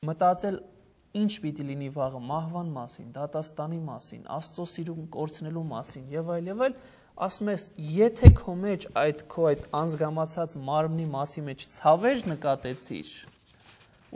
մտածել ինչ պիտի լինի վաղը մահվան մասին, դատաստանի մասին, Աստծո սիրուն կորցնելու մասին եւ այլ, ասում ես, եթե քո մեջ քո այդ անզգամացած մարմնի մասի մեջ ցավեր նկատեցիր,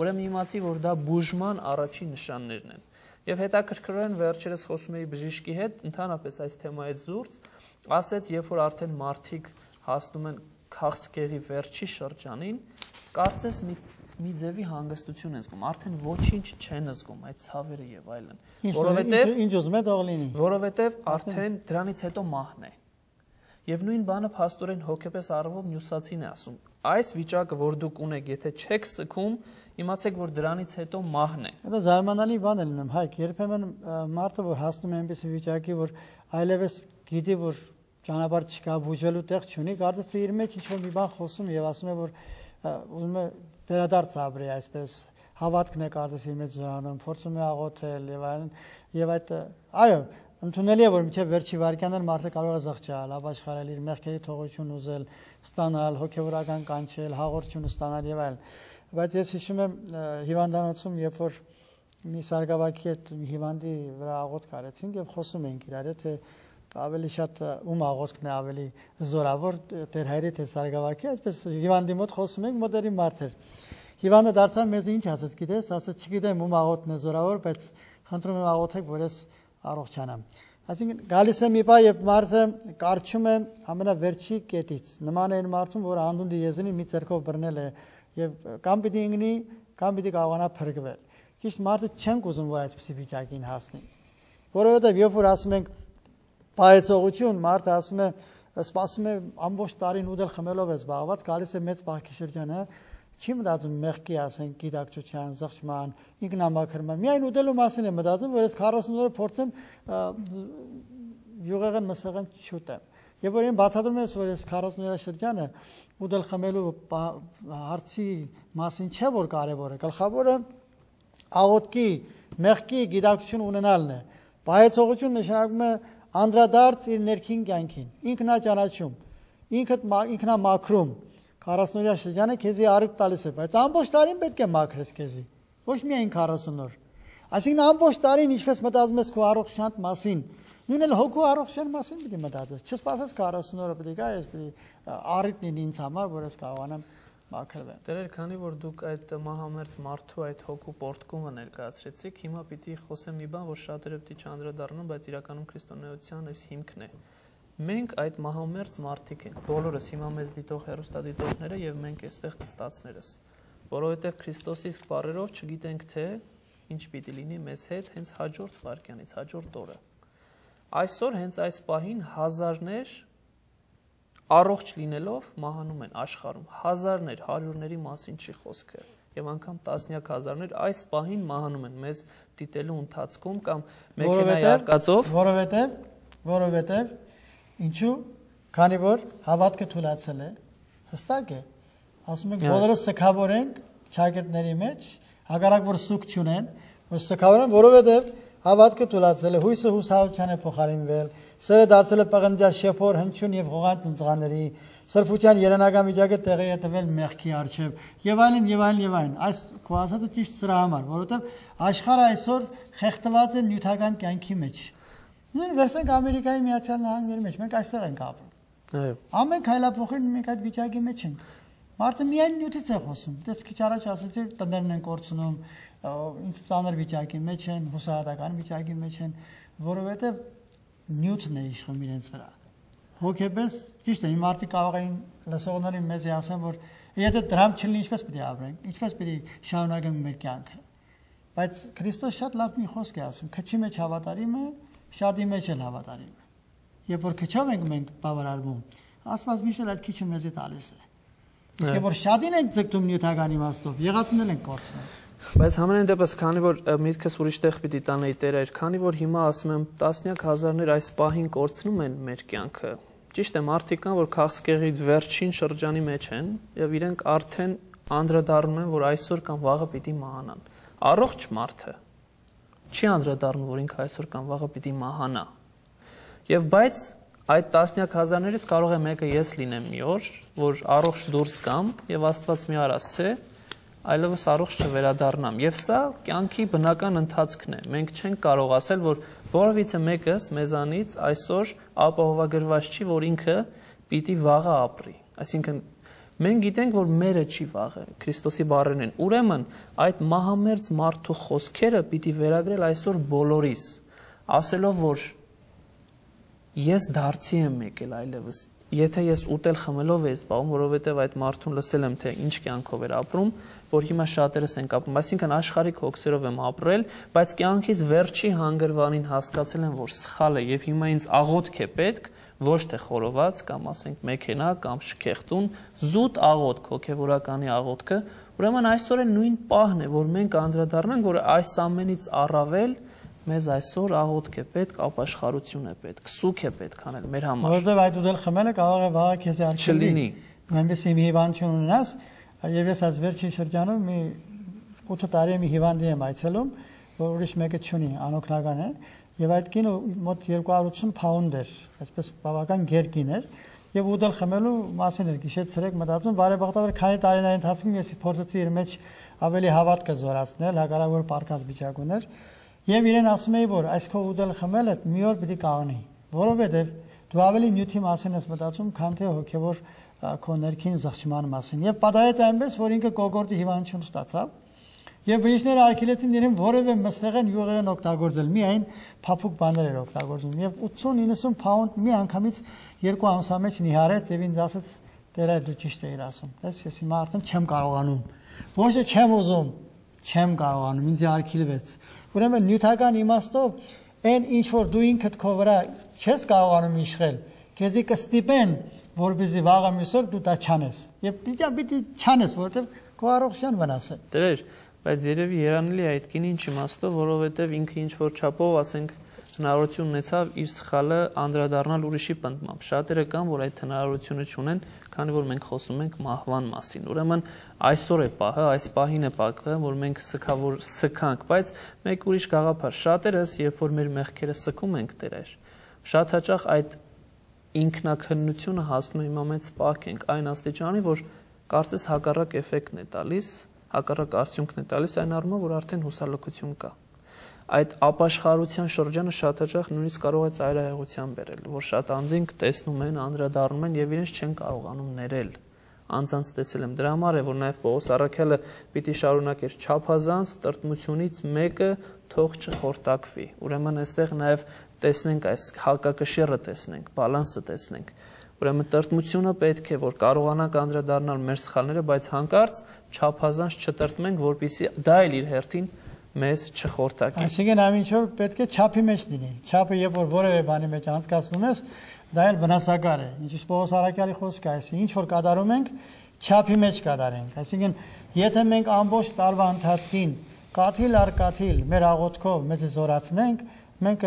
ուրեմն իմացի, որ դա բուժման առաջին նշաններն են։ Եվ հետաքրքրորեն վերջերս խոսում էի բժիշկի հետ, ընդհանրապես այս թեմայից զուրծ, ասեց, երբ որ արդեն մարդիկ հասնում են քաղցկեղի վերջի շրջանին, կարծես մի ձևի հանգստություն են զգում, արդեն ոչինչ չեն զգում այդ ցավերը եւ այլն, որովհետեւ արդեն դրանից հետո մահն է։ Եվ նույն բանը փաստորեն հոգեպես առումով Նյուսացին է ասում։ Այս վիճակը, որ դուք ունեք, եթե չեք սգում, իմացեք, որ դրանից հետո մահն է։ Դա զարմանալի բան է լինում, Հայկ, երբեմն մարդը որ հասնում է այնպիսի վիճակի, որ այլևս գիտի, որ ճանապարհ չկա, բուժվելու տեղ չունի, կարծես թե իր մեջ ինչ-որ մի բան խոսում եւ ասում է, որ ուզում է վերադարձ ապրի այսպես, հավատքն է կարծես իր մեջ զորանում, փորձում է աղոթել եւ այլն, եւ այդ այո, ընդունելի է, որ մինչև վերջի վայրկյաններ մարդը կարող է զղջալ, ապաշխարել, իր մեղքերի թողություն ուզել, ստանալ, հոգեվորական կանչել, հաղորդություն ստանալ եւ այլն։ Բայց ես հիշում եմ հիվանդանոցում, երբ որ մի սարգսակի հետ հիվանդի վրա աղոթք արեցինք եւ խոսում էինք իրար հետ, թե ավելի շատ ում աղոթքն է ավելի զորավոր, Տեր Հայրի թե սարգսակի, այսպես հիվանդի մոտ խոսում ենք, մոդերի մարդ էր։ Հիվանդը դարձավ մեզ ինչ ասեց, գիտես, ասեց չգիտեմ ում աղոթքն է զորավոր, բայց խնդրում եմ աղոթեք, որ ես առողջանամ։ Այսինքն գալիս է մի բա, երբ մարդը կարճում է ամենավերջի կետից, նման է այն մարդուն, որը անդունդի եզնի մի ձեռքով բռնել է եւ կամ պիտի ընկնի, կամ պիտի կարողանա փրկվել։ Ճիշտ մարդը չենք ուզում, որ այսպիսի վիճակին հասնի։ Որովհետեւ երբ որ ասում ենք պայծողություն, մարդը ասում է, սպասում է ամբողջ տարին ուդել խմելով է զբաղված, գալիս է մեծ բախի շրջանը, չի մտածում մեղքի, ասենք, գիտակցության, զղջման, ինքնամաքրման, միայն ուտելու մասին է մտածում, որ ես 40 օրը փորձեմ յուղեղեն մսեղեն չուտեմ։ Եվ որ այն բացատրում ես, որ ես 40 օրյա շրջանը ուտել խմելու հարցի մասին չէ, որ կարևոր է, գլխավորը աղոթքի, մեղքի գիտակցություն ունենալն է։ Պայծողություն նշանակում է անդրադարձ իր ներքին կյանքին, ինքնաճանաչում, ինքնամաքրում 40 օրյա շրջանը քեզի առիթ տալիս է, բայց ամբողջ տարին պետք է մաքրես քեզի, ոչ միայն 40 օր։ Այսինքն ամբողջ տարին ինչպես մտածում ես քո առողջության մասին, նույնն էլ հոգու առողջության մասին պիտի մտածես։ Չսպասես 40 օրը պետք է, ես պետք է առիթ լինի ինձ համար, որ ես կարողանամ մաքրվել։ Տերեր, քանի որ դուք այդ մահամերձ մարդու այդ հոգու պորտկումը ներկայացրեցիք, հիմա պիտի խոսեմ մի բան, որ շատերը պիտի չանդրադառնան, բայց իրականում քրիստոնեության այս հիմքն է։ Մենք այդ մահամերձ մարդիկ ենք, բոլորս հիմա մեզ դիտող հեռուստադիտողները եւ մենք այստեղ նստածներս, որովհետեւ Քրիստոսի իսկ բառերով չգիտենք թե ինչ պիտի լինի մեզ հետ հենց հաջորդ վայրկյանից, հաջորդ օրը։ Այսօր հենց այս պահին հազարներ առողջ լինելով մահանում են աշխարհում, հազարներ, հարյուրների մասին չի խոսքը, եւ անգամ տասնյակ հազարներ այս պահին մահանում են մեզ դիտելու ընթացքում կամ մեքենայի արկածով, որովհետեւ ինչու, քանի որ հավատքը թուլացել է, հստակ է, ասում ենք բոլորը սքավոր ենք ճակերտների մեջ, հակառակ որ սուկ չունեն, որ սքավոր են, որովհետև հավատքը թուլացել է, հույսը հուսահատության է փոխարինվել, սերը դարձել է պղնձյա շեփոր, հնչյուն եւ ղողանջ ընծղաների, սրբության երանական վիճակը տեղի է տվել մեղքի առջև, եւ այլն եւ այլն եւ այլն։ Այս քո ասածը ճիշտ սրա համար, որովհետև աշխարհը այսօր խեղդված է նյութական կյանքի մեջ։ Նույն վերսենք Ամերիկայի Միացյալ Նահանգների մեջ, մենք այստեղ ենք ապրում։ Այո։ Ամեն քայլափոխին մենք այդ վիճակի մեջ ենք։ Մարդը միայն նյութից է խոսում։ Դες քիչ առաջ ասացի, տներն են կորցնում, ինչ ծանր վիճակի մեջ են, հուսահատական վիճակի մեջ են, որովհետև նյութն է իշխում իրենց վրա։ Հոգեպես ճիշտ է, իմ մարդիկ կարող էին լսողների մեզ ասեն, որ եթե դրամ չլինի, ինչպես պիտի ապրենք, ինչպես պիտի շարունակենք մեր կյանքը։ Բայց Քրիստոս շատ լավ մի խոսք է ասում, քչի մեջ հավատարիմը, շատի մեջ էլ հավատարիմը։ Երբ որ քչով ենք մենք բավարարվում, Աստված միշտ այդ քիչը մեզի տալիս է։ Իսկ որ շատին ենք ձգտում նյութական իմաստով, եղածն ենք կորցնում։ Բայց համենայն դեպս, քանի որ միտքս ուրիշ տեղ պիտի տանեի Տեր, քանի որ հիմա ասում եմ տասնյակ հազարներ այս պահին կորցնում են մեր կյանքը։ Ճիշտ է, մարդիկ կան, որ քաղցկեղի վերջին շրջանի մեջ են եւ իրենք արդեն անդրադառնում են, որ այսօր կամ վաղը պիտի մահանան։ Առողջ մարդը չի անդրադառնում, որ ինքը այսօր կամ վաղը պիտի մահանա։ Եվ բայց այդ տասնյակ հազարներից կարող է մեկը ես լինեմ մի օր, որ առողջ դուրս կամ եւ Աստված մի արածցե այլևս առողջ չվերադառնամ։ Եվ սա կյանքի բնական ընթացքն է։ Մենք չենք կարող ասել, որ որևիցե մեկս մեզանից այսօր ապահովագրված չի, որ ինքը պիտի վաղը ապրի։ Այսինքն մենք գիտենք, որ մերը չի վաղը, Քրիստոսի բառերն են։ Ուրեմն այդ մահամերձ մարդու խոսքերը պիտի վերագրել այսօր բոլորիս, ասելով, որ ես դարձի եմ եկել այլևս։ Եթե ես ուտել խմելով եմ զբաղվում, որովհետև այդ մարդուն լսել եմ, թե ինչ կյանքով էր ապրում, որ հիմա շատերս ենք ապրում, այսինքն աշխարհիկ հոգսերով եմ ապրել, բայց կյանքից վերջի հանգրվանին հասկացել եմ, որ սխալ է եւ հիմա ինձ աղոթք է պետք, ոչ թե խորոված կամ ասենք մեքենա կամ շքեղտուն, զուտ աղոթք, հոգեվորականի աղոթքը, ուրեմն այսօր է նույն պահն է, որ մենք անդրադառնանք, որ այս ամենից առավել մեզ այսօր աղոթք է պետք, ապաշխարություն է պետք, սուք է պետք անել մեր համար։ Որովհետև այդ ուտել խմելը կարող է վաղը քեզ արգելի։ Այնպես մի հիվանդություն ունենաս, եւ ես այս վերջին շրջանում մի 8 տարի մի հիվանդի եմ այցելում, որ ուրիշ մեկը չունի, անօգնական է, եւ այդ կինը մոտ 280 փաունդ էր, այսպես բավական գերկին էր, եւ ուտել խմելու մասին էր գիշեր ցերեկ մտածում, բարեբախտաբար քանի տարիների ընթացքում ես փորձեցի իր մեջ ավելի հավատքը զորացնել, հակառակ որ պարկած վիճակ ուներ, եւ իրեն ասում էի, որ այս քո ուտել խմելը մի օր պիտի կաղնի, որովհետեւ դու ավելի նյութի մասին ես մտածում, քան թե հոգեվոր քո ներքին զղջման մասին։ Եվ պատահեց այնպես, որ ինքը կոկորդի հիվանդություն ստացավ, եւ բժիշկները արգելեցին իրեն որևէ մսեղեն յուղեղեն օգտագործել, միայն փափուկ բաներ էր օգտագործում։ Եվ 80-90 փաունդ մի անգամից 2 ամսվա մեջ նիհարեց եւ ինձ ասաց՝ «Տեր, դու ճիշտ ես ասում»։ Ես հիմա արդեն չեմ կարողանում։ Ոչ թե չեմ ուզում, չեմ կարողանում, ինձ արգելվեց։ Ուրեմն նյութական իմաստով այն ինչ որ դու ինքդ քո վրա չես կարողանում իշխել, քեզի կստիպեն, որպեսզի վաղը մյուսօր դու դա չանես։ Եվ պիտի չանես, որովհետև քո առողջության վնաս է։ Տեր, բայց երևի երանելի է այդ կինի ինչ իմաստով, որովհետև ինքը ինչ որ չափով, ասենք, հնարավորություն ունեցավ իր սխալը անդրադառնալ ուրիշի պնդմամբ։ Շատերը կան, որ այդ հնարավորությունը չունեն, քանի որ մենք խոսում ենք մահվան մասին։ Ուրեմն այսօր է պահը, այս պահին է պահը, որ մենք սքանք, բայց մեկ ուրիշ գաղափար։ Շատերս, երբ որ մեր մեղքերը սքում ենք, Տեր, շատ հաճախ այդ ինքնակնությունը հասնում է հիմա մեծ պահք ենք այն աստիճանի, որ կարծես հակառակ էֆեկտն է տալիս, հակառակ արդյունքն է տալիս այն առումով, որ արդեն հուսալքություն կա։ Այդ ապաշխարության շրջանը շատ հաճախ նույնիսկ կարող է ծայրահեղության բերել, որ շատ անձինք տեսնում են, անդրադառնում են եւ իրենց չեն կարողանում ներել։ Անձանց տեսել եմ, դրա համար է, որ նաեւ Պողոս առաքյալը պիտի շարունակեր չափազանց տրտմությունից մեկը թող չխորտակվի։ Ուրեմն այստեղ նաեւ տեսնենք այս հակակշիռը տեսնենք, բալանսը տեսնենք։ Ուրեմն տրտմությունը պետք է, որ կարողանանք անդրադառնալ մեր սխալները, բայց հանկարծ չափազանց չտրտմենք, որպեսզի դա էլ իր հերթին մեզ չխորտակի։ Այսինքն ամեն ինչ պետք է չափի մեջ լինի։ Չափը երբ որ որևէ բանի մեջ անցկացնում ես, դա էլ վնասակար է։ Ինչպես Պողոս առաքյալի խոսքը է, ինչ որ կատարում ենք, չափի մեջ կատարենք։ Այսինքն եթե մենք ամբողջ տարվա ընթացքին կաթիլ առ կաթիլ մեր աղոթքով մեզ զորացնենք, մենք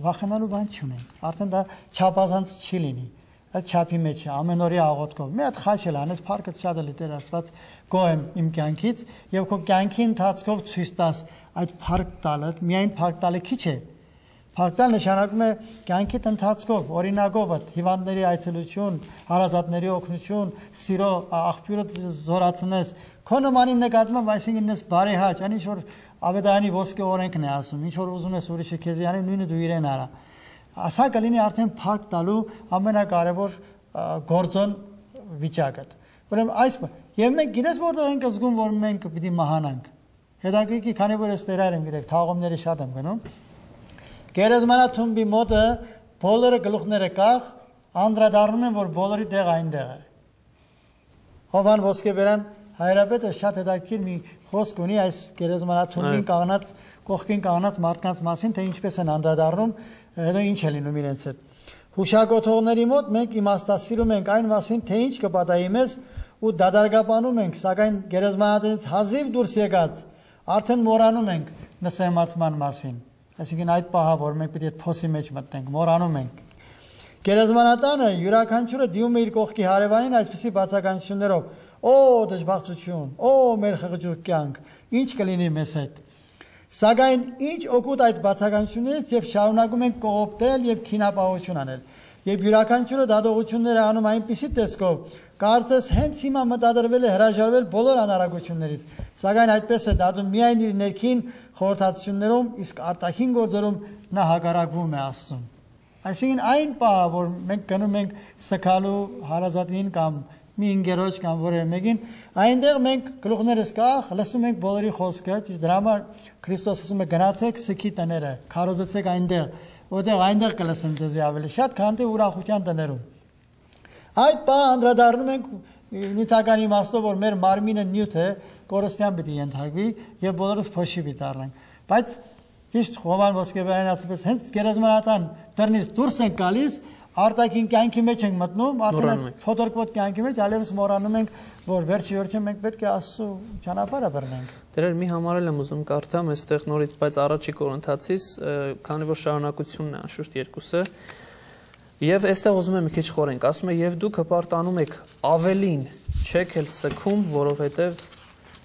վախենալու բան չունենք։ Արդեն դա չափազանց չի լինի։ Այդ չափի մեջ է ամենօրյա աղոթքով։ Մի հատ խաչ էլ անես, փառքը շատ էլ Տեր Աստված գոհ եմ իմ կյանքից եւ քո կյանքի ընթացքով ցույց տաս այդ փառք տալը, միայն փառք տալը քիչ է։ Փառք տալ նշանակում է կյանքիդ ընթացքով, օրինակով հիվանդների այցելություն, հարազատների օգնություն, սիրո աղբյուրը զորացնես, քո նմանին նկատմամբ, այսինքն ես բարեհաճ, այն ինչ որ Ավետարանի ոսկե օրենքն է ասում, ինչ որ ուզում ես ուրիշը քեզ անի, նույնը դու իրեն արա։ Ասա կլինի արդեն փառք տալու ամենակարևոր գործոն վիճակը։ Ուրեմն այս եւ մենք գիտես որտեղ ենք զգում, որ մենք պիտի մահանանք։ Հետաքրքիր, քանի որ ես Տերայր եմ գիտեք, թաղումների շատ եմ գնում։ Գերեզմանաթումբի մոտը բոլորը գլուխները կախ, անդրադառնում են, որ բոլորի տեղ այնտեղ է։ Հովան Ոսկեբերան հայրապետը շատ հետաքրքիր մի խոսք ունի այս գերեզմանաթումբին կանգնած, կողքին կանգնած մարդկանց մասին, թե ինչպես են անդրադառնում, հետո ինչ է լինում իրենց հետ։ Հուշագոթողների մոտ մենք իմաստասիրում ենք այն մասին, թե ինչ կպատահի մեզ ու դադարգապանում ենք, սակայն գերեզմանատնից հազիվ դուրս եկած արդեն մոռանում ենք նսեմացման մասին։ Այսինքն այդ պահը, որ մենք պիտի այդ փոսի մեջ մտնենք, մոռանում ենք։ Գերեզմանատանը յուրաքանչյուրը դիում է իր կողքի հարևանին այսպիսի բացականություններով. «Օ, դժբախտություն, օ, մեր խղճուկ կյանք, ինչ կլինի մեզ հետ»։ Սակայն ինչ օգուտ այդ բացականություններից եւ շարունակում ենք կողոպտել եւ քինապահություն անել։ Եվ յուրաքանչյուրը դատողություններ անում այնպիսի տեսքով, կարծես հենց հիմա մտադրվել է հրաժարվել բոլոր անարագություններից, սակայն այդպես է դատում միայն իր ներքին խորհրդատություններում, իսկ արտաքին գործերում նա հակառակվում է Աստծուն։ Այսինքն այն պահը, որ մենք գնում ենք սքալու հարազատին կամ մի ընկերոջ կամ որևէ մեկին, այնտեղ մենք գլուխներս կախ լսում ենք բոլորի խոսքը, իսկ դրա համար Քրիստոս ասում է գնացեք սքի տները, քարոզեցեք այնտեղ, որտեղ այնտեղ կլսեն ձեզ ավելի շատ, քան թե ուրախության տներում։ Այդ բանը անդրադառնում ենք նյութական իմաստով, որ մեր մարմինը նյութ է, կորստյան պիտի ենթարկվի եւ բոլորս փոշի պիտի դառնանք։ Բայց ճիշտ Հովան Ոսկեբեյանն ասում է, հենց գերեզմանատան դռնից դուրս ենք գալիս, արտաքին կյանքի մեջ ենք մտնում, արդեն փոթորկոտ կյանքի մեջ այլևս մոռանում ենք, որ վերջի մենք պետք է Աստծո ճանապարհը բռնենք։ Դերեր մի համարել եմ ուզում կարդամ այստեղ նորից, բայց առաջի Կորինթացիս, քանի որ շարունակությունն է անշուշտ երկուսը, եւ այստեղ ուզում եմ մի քիչ խորենք, ասում է եւ դուք հպարտանում եք ավելին, չեք էլ սքում, որովհետեւ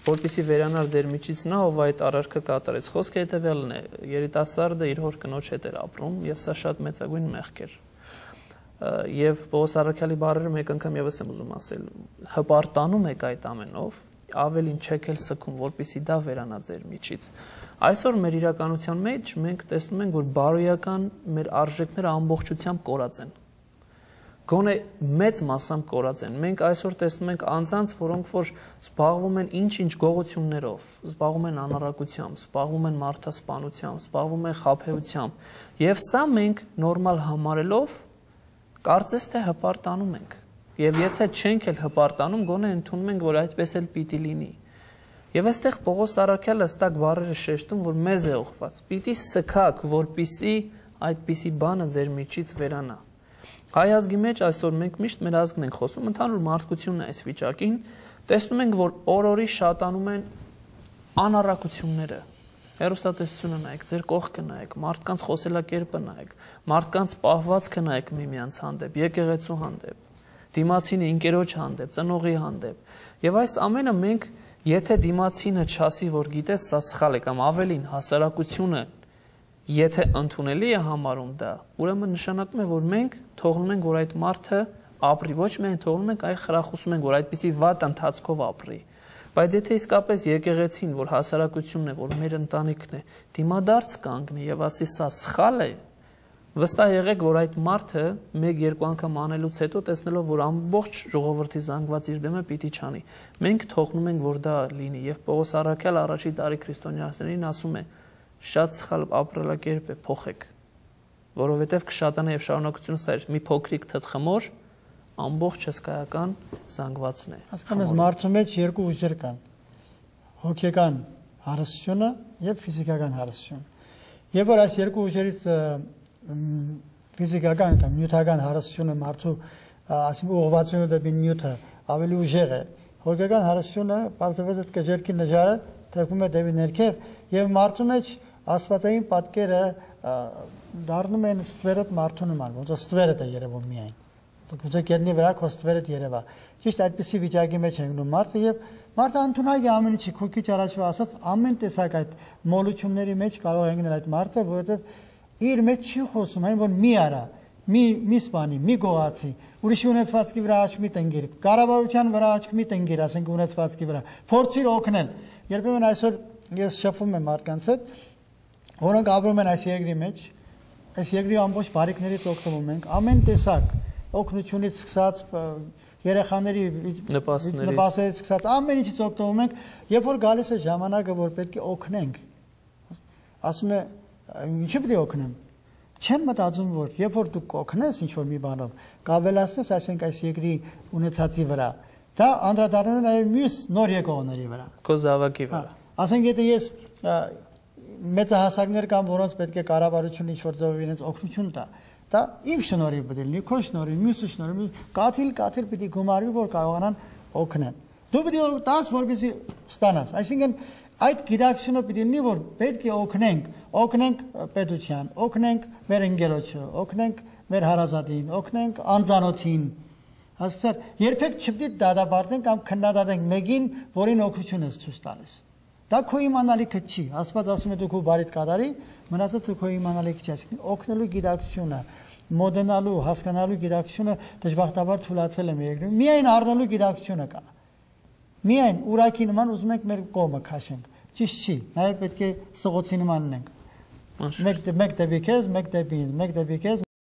որպեսզի վերանար ձեր միջից նա, ով այդ արարքը կատարեց։ Խոսքը հետեւյալն է. երիտասարդը իր հոր կնոջ հետ էր ապրում եւ սա շատ մեծագույն մեղք էր։ Եվ Պողոս առաքյալի բառերը մեկ անգամ եւս եմ ուզում ասել, հպարտանում եք այդ ամենով, ավելին չեք էլ սքում, որպեսզի դա վերանա ձեր միջից։ Այսօր մեր իրականության մեջ մենք տեսնում ենք, որ բարոյական մեր արժեքները ամբողջությամբ կորած են։ Գոնե մեծ մասամբ կորած են։ Մենք այսօր տեսնում ենք անձանց, որոնք որ զբաղվում են ինչ-ինչ գողություններով, զբաղվում են անառակությամբ, զբաղվում են մարդասպանությամբ, զբաղվում են խաբեությամբ, եւ սա մենք նորմալ համարելով կարծես թե հպարտանում ենք։ Եվ եթե չենք էլ հպարտանում, գոնե ընդունում ենք, որ այդպես էլ պիտի լինի։ Եվ այստեղ Պողոս առաքյալը հստակ բառերը շեշտում, որ մեզ է ուղղված։ Պիտի սքաք, որպիսի այդպիսի բանը ձեր միջից վերանա։ Հայ ազգի մեջ այսօր մենք միշտ մեր ազգն ենք խոսում, ընդհանուր մարդկությունն է այս վիճակին, տեսնում ենք, որ օր-օրի շատանում են անառակությունները։ Հեռուստատեսությունը նայեք, ձեր կողքը նայեք, մարդկանց խոսելակերպը նայեք, մարդկանց պահվածքը նայեք միմյանց հանդեպ, եկեղեցու հանդեպ, դիմացինի ընկերոջ հանդեպ, ծնողի հանդեպ։ Եվ այս ամենը մենք, եթե դիմացինը չասի, որ գիտես, սա սխալ է, կամ ավելին հասարակությունը եթե ընդունելի է համարում դա, ուրեմն նշանակում է, որ մենք թողնում ենք, որ այդ մարդը ապրի, ոչ միայն թողնում ենք, այլ խրախուսում ենք, որ այդպիսի վատ ընթացքով ապրի։ Բայց եթե իսկապես եկեղեցին, որ հասարակությունն է, որ մեր ընտանիքն է, դիմադարձ կանգնի եւ ասի սա սխալ է, վստահ եղեք, որ այդ մարդը 1-2 անգամ անելուց հետո տեսնելով, որ ամբողջ ժողովրդի զանգված իր դեմը պիտի չանի, մենք թողնում ենք, որ դա լինի եւ Պողոս առաքյալ առաջի տարի քրիստոնյաներին ասում է. շատ սխալ ապրելակերպ է, փոխեք, որովհետեւ կշատանա եւ շարունակությունը սա է, մի փոքրիկ թթխմոր ամբողջ հսկայական զանգվածն է։ Հասկանում ես, մարդու մեջ երկու ուժեր կան. հոգեկան հարստությունը եւ ֆիզիկական հարստությունը։ Եվ որ այս երկու ուժերից ֆիզիկական կամ նյութական հարստությունը մարդու, ասենք ուղղվածությունը դեպի նյութը ավելի ուժեղ է։ Հոգեկան հարստությունը բարձրապես այդ կժերքի նժարը թեքվում է դեպի ներքև եւ մարդու մեջ աստվածային պատկերը դառնում են ստվերոտ մարդու նման, ոնց որ ստվերդ է երևում միայն։ Գուցե գետնի վրա քո ստվերդ երևա։ Ճիշտ այդպիսի վիճակի մեջ է գնում մարդը եւ մարդը ընդունակ է ամեն ինչի, քո քիչ առաջվա ասած ամեն տեսակ այդ մոլությունների մեջ կարող է գնել այդ մարդը, որովհետեւ իր մեջ չի խոսում այն, որ մի արա, մի սպանի, մի գողացի, ուրիշի ունեցվածքի վրա աչք մի տնգիր, կառավարության վրա աչք մի տնգիր, ասենք ունեցվածքի վրա, փորձիր օգնել։ Երբեմն այսօր ես շփվում եմ մարդկանց հետ, որոնք ապրում են այս երկրի մեջ, այս երկրի ամբողջ բարիքներից օգտվում ենք, ամեն տեսակ օգնությունից սկսած երեխաների նպաստներից սկսած ամեն ինչից օգտվում ենք, երբ որ գալիս է ժամանակը, որ պետք է օգնենք, ասում է, ինչի՞ պետք է օգնեմ։ Չեմ մտածում, որ երբ որ դու կօգնես ինչ-որ մի բանով, կավելացնես, այսինքն այս երկրի ունեցածի վրա, դա անդրադառնում է նաև մյուս նոր եկողների վրա։ Քո զավակի վրա։ Ասենք եթե ես մեծահասակներ կամ որոնց պետք է կառավարությունը ինչ-որ ձևով իրենց օգնություն տա, դա իմ շնորհիվ պետք է լինի, քո շնորհիվ, մյուսի շնորհիվ, կաթիլ պիտի գումարվի, որ կարողանան օգնեն։ Դու պետք է տաս, որպեսզի ստանաս։ Այսինքն այդ գիտակցությունը պետք է լինի, որ պետք է օգնենք պետության, օգնենք մեր ընկերոջը, օգնենք մեր հարազատին, օգնենք անծանոթին։ Հասկացա՞ր, երբեք չպետք է դադարենք կամ քննադատենք մեկին, որին օգնություն ես ցույց տալիս։ Դա քո իմանալիքը չի։ Աստված ասում է դու քո բարիդ կատարի, մնացածը քո իմանալիքը չի, այսինքն օգնելու գիտակցությունը, մոդենալու, հասկանալու գիտակցությունը դժբախտաբար թուլացել է մեր երկրում։ Միայն առնելու գիտակցությունը կա։ Միայն ուրակի նման ուզում ենք մեր կողմը քաշենք։ Ճիշտ չի։ Նաև պետք է սղոցի նման ունենք։ Մեկ դեպի քեզ, մեկ դեպի ինձ, մեկ դեպի քեզ